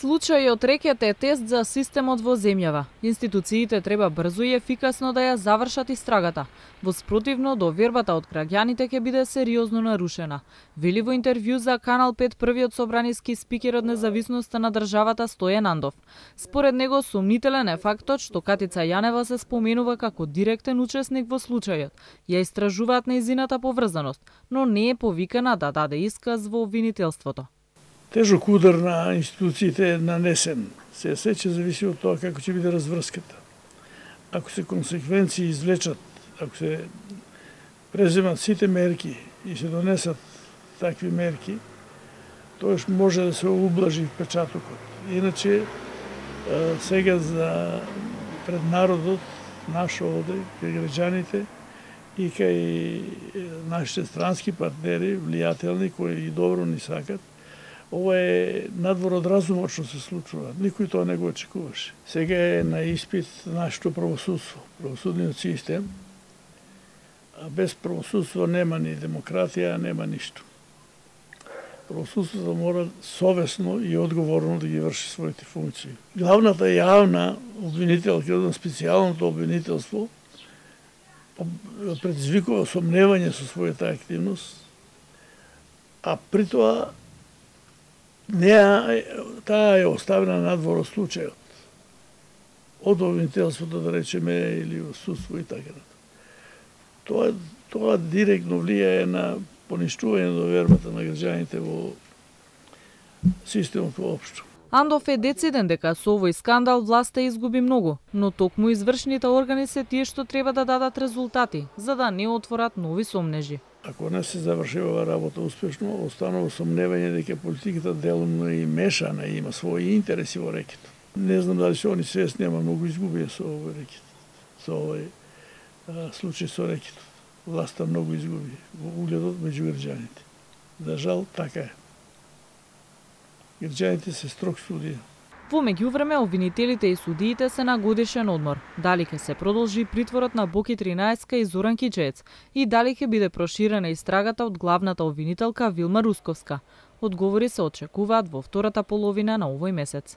Случајот рекет е тест за системот во земјава. Институциите треба брзо и ефикасно да ја завршат истрагата. Во спротивно, довербата од граѓаните ќе биде сериозно нарушена. Вели во интервју за Канал 5 првиот собраниски спикер од независноста на државата Стојан Андов. Според него сомнителен е фактот што Катица Јанева се споменува како директен учесник во случајот. Ја истражуваат нејзината поврзаност, но не е повикана да даде исказ во обвинителството. Тежок удар на институциите е нанесен. Се ќе зависи од тоа како ќе биде разврската. Ако се консеквенции извлечат, ако се преземат сите мерки и се донесат такви мерки, тоаш може да се ублажи впечатокот. Иначе, сега за пред народот, наш овде, кај граѓаните и кај нашите странски партнери, влијателни, кои и добро ни сакат, ова е надвор од разумот што се случува. Никој тоа не го очекуваше. Сега е на испит нашето правосудство, правосудниот систем. А без правосудство нема ни демократија, нема ништо. Правосудството мора совесно и одговорно да ги врши своите функции. Главната јавна обвинителка на специјалното обвинителство предизвикува сомневање со својата активност, а при тоа таа е оставена надвор од случајот. Од обвинителството, да речеме, или од судство и така. Тоа директно влијае на поништување на довербата на граѓаните во системот воопшто. Андов е дециден дека со овој скандал власта изгуби многу, но токму извршните органи се тие што треба да дадат резултати, за да не отворат нови сомнежи. Ако не се заврши ова работа успешно, останува сомневање дека политиката делумно и мешана и има своји интереси во рекетот. Не знам дали се они свесни, ама многу изгубија со овој рекет. Со овој случај со рекетот. Власта многу изгуби во угледот меѓу граѓаните. За жал, така е. Граѓаните се строг судија. Во меѓувреме, обвинителите и судиите се на годишен одмор. Дали ќе се продолжи притворот на Боки 13 и Зоран Кичеец и дали ќе биде проширена истрагата од главната обвинителка Вилма Русковска. Одговори се очекуваат во втората половина на овој месец.